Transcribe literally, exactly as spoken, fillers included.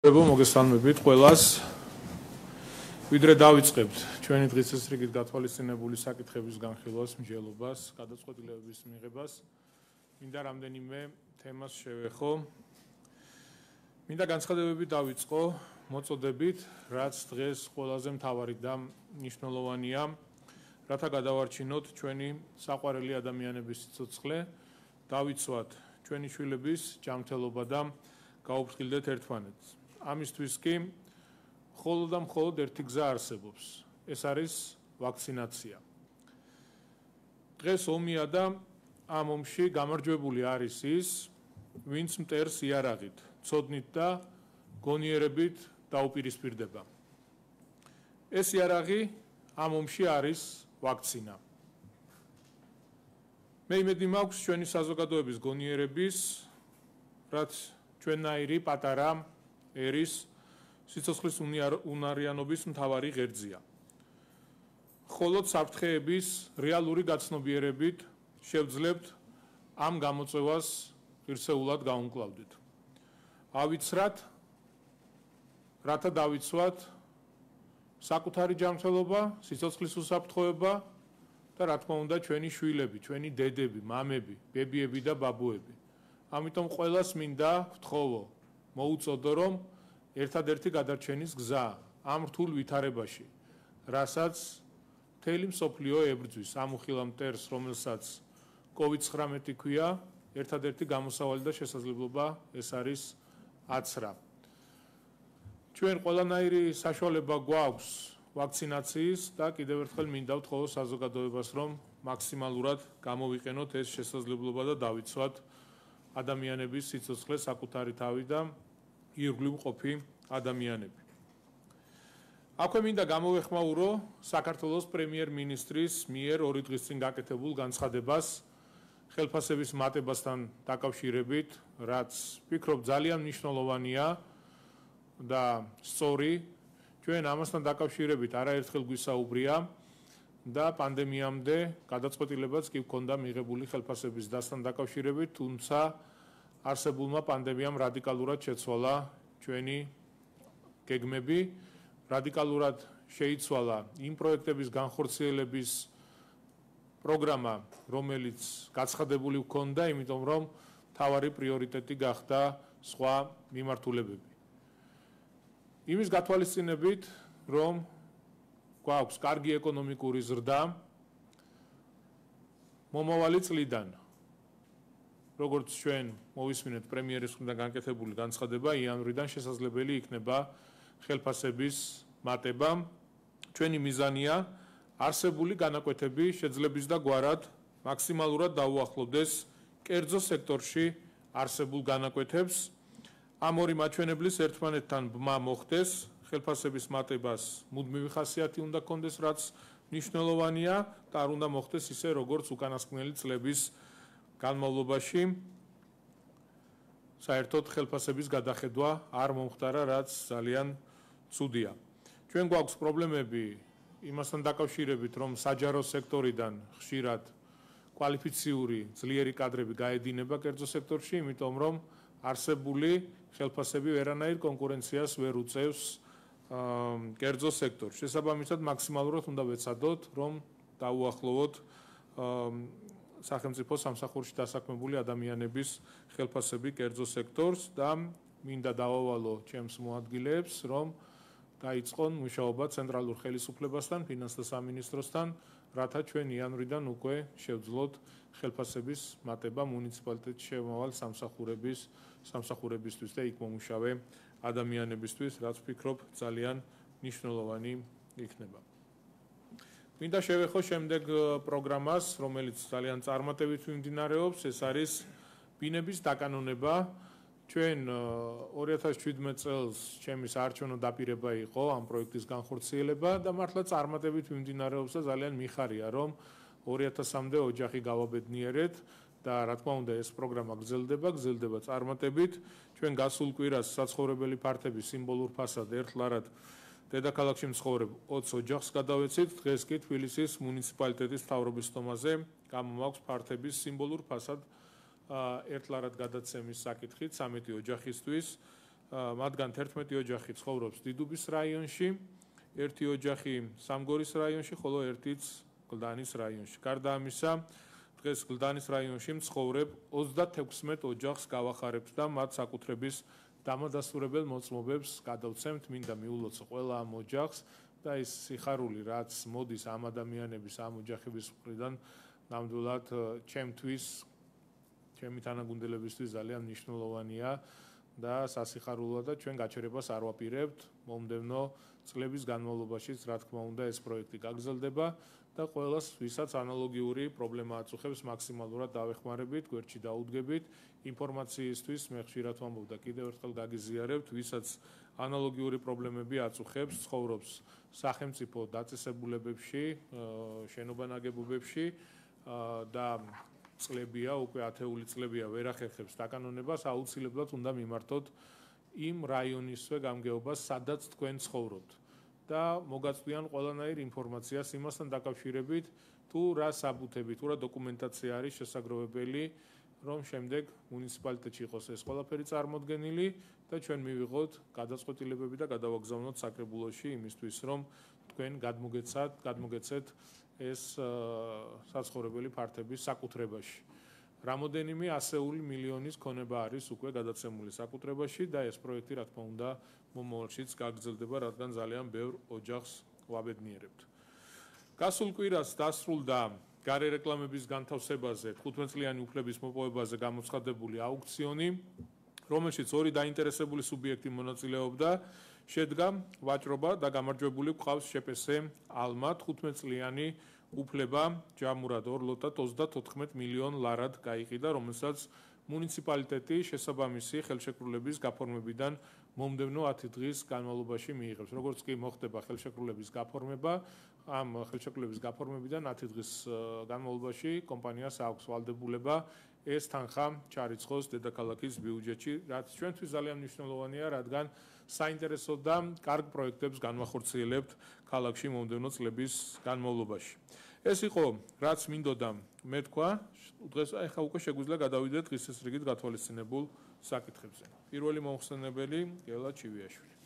მოგესალმებით ყველას. ვიდრე დავიწყებთ ჩვენი დღის რიგით გათვალისწინებული საკითხების განხილვას, მსჯელობას, გადაწყვეტილებების მიღებას, მინდა რამდენიმე თემას შევეხო. მინდა განცხადებები დავიწყო მოწოდებით, რაც დღეს ყველაზე მთავარი და მნიშვნელოვანია, რათა გადავარჩინოთ ჩვენი საყვარელი ადამიანების სიცოცხლე, დავიცვათ ჩვენი შვილების ჯანმრთელობა და გაუფრთხილდეთ ერთმანეთს. ამისთვის კი მხოლოდ და მხოლოდ ერთი გზა არსებობს. ეს არის ვაქცინაცია. დღეს ომია და ამ ომში გამარჯვებული არის ის, ვინც მტერს იარაღით, ცოდნით და გონიერებით დაუპირისპირდება. ეს იარაღი ამ ომში არის ვაქცინა. მე იმედი მაქვს ჩვენი საზოგადოების გონიერების, რაც ჩვენნაირი პატარა ერის სიცოცხლის უნარიანობის მთავარი ღერძია. მხოლოდ საფრთხეების რეალური გაცნობიერებით შევძლებთ ამ გამოწვევას ღირსეულად გავუმკლავდეთ. ავიცრათ, რათა დავიცვათ საკუთარი ჯანმრთელობა, სიცოცხლის უსაფრთხოება და რა თქმა უნდა ჩვენი შვილები, ჩვენი დედები, მამები, ბებიები და ბაბუები. ამიტომ ყველას მინდა ვთხოვო, მოუწოდო, რომ ერთადერთი გადარჩენის გზა ამ რთულ ვითარებაში, რასაც მთელი მსოფლიო ებრძვის, ამ უხილავ მტერს, რომელსაც კოვიდ ცხრამეტი ქვია, ერთადერთი გამოსავალი და შესაძლებლობა ეს არის აცრა. ჩვენ ყველანაირი საშუალება გვაქვს ვაქცინაციის და კიდევ ერთხელ მინდა ვთხოვო საზოგადოებას, რომ მაქსიმალურად გამოვიყენოთ ეს შესაძლებლობა და დავიცვათ ადამიანების სიცოცხლე, საკუთარი თავი და ირგვლივ მყოფი ადამიანები. აქვე მინდა გამოვეხმაურო საქართველოს პრემიერ-მინისტრის მიერ ორი დღის წინ გაკეთებულ განცხადებას ხელფასების მატებასთან დაკავშირებით, რაც ვფიქრობ ძალიან მნიშვნელოვანია და სწორი. ჩვენ ამასთან დაკავშირებით არაერთხელ გვისაუბრია და პანდემიამდე გადაწყვეტილებაც კი ჰქონდა მიღებული ხელფასების დასთან დაკავშირებით, თუმცა არსებულმა პანდემიამ რადიკალურად შეცვალა ჩვენი გეგმები, რადიკალურად შეიცვალა იმ პროექტების განხორციელების პროგრამა, რომელიც გაცხადებული ჰქონდა, იმიტომ რომ მთავარი პრიორიტეტი გახდა სხვა მიმართულებები. იმის გათვალისწინებით, რომ გვაქვს კარგი ეკონომიკური ზრდა მომავალი წლიდან, როგორც ჩვენ მოვისმინეთ პრემიერის მხრიდან განკეთებული განცხადება, იანვრიდან შესაძლებელი იქნება ხელფასების მატება. ჩვენი მიზანია არსებული განაკვეთები შეძლების და გვარად მაქსიმალურად დაუახლოვდეს კერძო სექტორში არსებულ განაკვეთებს. ამ ორი მაჩვენებლის ერთმანეთთან ბმა მოხდეს, ხელფასების მატებას მუდმივი ხასიათი უნდა ჰქონდეს, რაც მნიშვნელოვანია და არ უნდა მოხდეს ისე, როგორც უკანასკნელი წლების განმავლობაში. საერთოდ ხელფასების გადახედვა არ მომხდარა, რაც ძალიან ცუდია. ჩვენ გვაქვს პრობლემები იმასთან დაკავშირებით, რომ საჯარო სექტორიდან ხშირად კვალიფიციური ძლიერი კადრები გაედინება კერძო სექტორში, იმიტომ რომ არსებული ხელფასები ვერანაირ კონკურენციას ვერ უწევს კერძო სექტორში. შესაბამისად, მაქსიმალურად უნდა ვეცადოთ, რომ დაუახლოვოთ სახელმწიფო სამსახურში დასაქმებული ადამიანების ხელფასები კერძო სექტორს და მინდა დავავალო ჩემს მოადგილეებს, რომ დაიწყონ მუშაობა ცენტრალურ ხელისუფლებასთან, ფინანსთა სამინისტროსთან, რათა ჩვენ იანვრიდან უკვე შევძლოთ ხელფასების მატება მუნიციპალიტეტში შემავალ სამსახურების სამსახურებისთვის და იქ მომუშავე ადამიანებისთვის, რაც ვფიქრობ ძალიან მნიშვნელოვანი იქნება. მინდა შევეხო შემდეგ პროგრამას, რომელიც ძალიან წარმატებით მიმდინარეობს, ეს არის ბინების დაკანონება. ჩვენ ორი ათას შვიდმეტ წელს ჩემი საარჩევნო დაპირება იყო ამ პროექტის განხორციელება და მართლა წარმატებით მიმდინარეობს და ძალიან მიხარია, რომ ორი ათასამდე ოჯახი გავაბედნიერეთ და რა თქმა უნდა ეს პროგრამა გრძელდება, გრძელდება წარმატებით. ჩვენ გასულ კვირას საცხოვრებელი ფართების სიმბოლურ ფასად ერთლარად დედაქალაქში მცხოვრებ ოცს ოჯახს გადავეცით, დღეს კი თბილისის მუნიციპალიტეტის მთავრობის სტომაზე გამომაქვს ფართების სიმბოლურ ფასად ერთლარად გადაცემის საკითხით ცამეტი ოჯახისთვის მათგან თერთმეტი ოჯახი ცხოვრობს დიდუბის რაიონში, ერთი ოჯახი სამგორის რაიონში, ხოლო ერთიც გლდანის რაიონში. გარდა ამისა, დღეს გლდანის რაიონში მცხოვრებ ოცდათექვსმეტ ოჯახს გავახარებთ და მათ საკუთრების დამადასტურებელ მოწმობებს გადავცემთ, მინდა მიულოცო ყველა ამ ოჯახს და ის სიხარული, რაც მოდის ამ ადამიანების, ამ ოჯახების მხრიდან, ნამდვილად ჩემთვის, ჩემი თანაგუნდელებისთვის ძალიან მნიშვნელოვანია და სასიხარულოა და ჩვენ გაჩერებას არ ვაპირებთ. მომდევნო წლების განმავლობაშიც, რა თქმა უნდა, ეს პროექტი გაგრძელდება და ყველას, ვისაც ანალოგიური პრობლემა აწუხებს, მაქსიმალურად დავეხმარებით, გვერდში დაუდგებით. ინფორმაციისთვის მე ხშირად ვამბობ და კიდევ ერთხელ გაგიზიარებთ, ვისაც ანალოგიური პრობლემები აწუხებს, ცხოვრობს სახელმწიფო დაწესებულებებში, შენობა ნაგებობებში და წლებია, უკვე ათეული წლებია ვერ ახერხებს დაკანონებას, აუცილებლად უნდა მიმართოთ იმ რაიონისვე გამგეობას, სადაც თქვენ ცხოვრობთ. და მოგაწვიან ყველანაირ ინფორმაციას იმასთან დაკავშირებით, თუ რა საბუთები, თუ რა დოკუმენტაცია არის შესაძლებელი, რომ შემდეგ მუნიციპალიტეტში იყოს ეს ყველაფერი წარმოდგენილი და ჩვენ მივიღოთ გადაწყვეტილებები და გადავაგზავნოთ საკრებულოში იმისთვის, რომ თქვენ გადმოგეცათ, გადმოგეცეთ ეს საცხოვრებელი ფართების საკუთრებაში. რამოდენიმე ასეული მილიონის ქონება არის უკვე გადაცემული საკუთრებაში და ეს პროექტი, რა თქმა უნდა, მომავალშიც გაგრძელდება, რადგან ძალიან ბევრ ოჯახს ვაბედნიერებთ. გასულ კვირას დასრულდა გარე რეკლამების განთავსებაზე, თხუთმეტწლიანი უფლების მოპოვებაზე გამოცხადებული აუქციონი, რომელშიც ორი დაინტერესებული სუბიექტი მონაწილეობდა. შედგა ვაჭრობა და გამარჯვებული გვყავს შპს ალმა თხუთმეტწლიანი უფლება ჯამურად ორ ლოტად ოცდათოთხმეტ მილიონ ლარად გაიყიდა, რომელსაც მუნიციპალიტეტი შესაბამისი ხელშეკრულების გაფორმებიდან მომდევნო ათი დღის განმავლობაში მიიღებს. როგორც კი მოხდება ხელშეკრულების გაფორმება, ამ ხელშეკრულების გაფორმებიდან ათი დღის განმავლობაში კომპანიას აქვს ვალდებულება ეს თანხა ჩარიცხოს დედაქალაქის ბიუჯეტში, რაც ჩვენთვის ძალიან მნიშვნელოვანია, რადგან საინტერესო და კარგ პროექტებს განვახორციელებთ ქალაქში მომდევნო წლების განმავლობაში. ეს იყო, რაც მინდოდა მეთქვა, დღეს ახლა უკვე შეგვიძლია გადავიდეთ დღის რიგით გათვალისწინებულ საკითხებზე. პირველი მომხსენებელი გელა ჩივიაშვილი.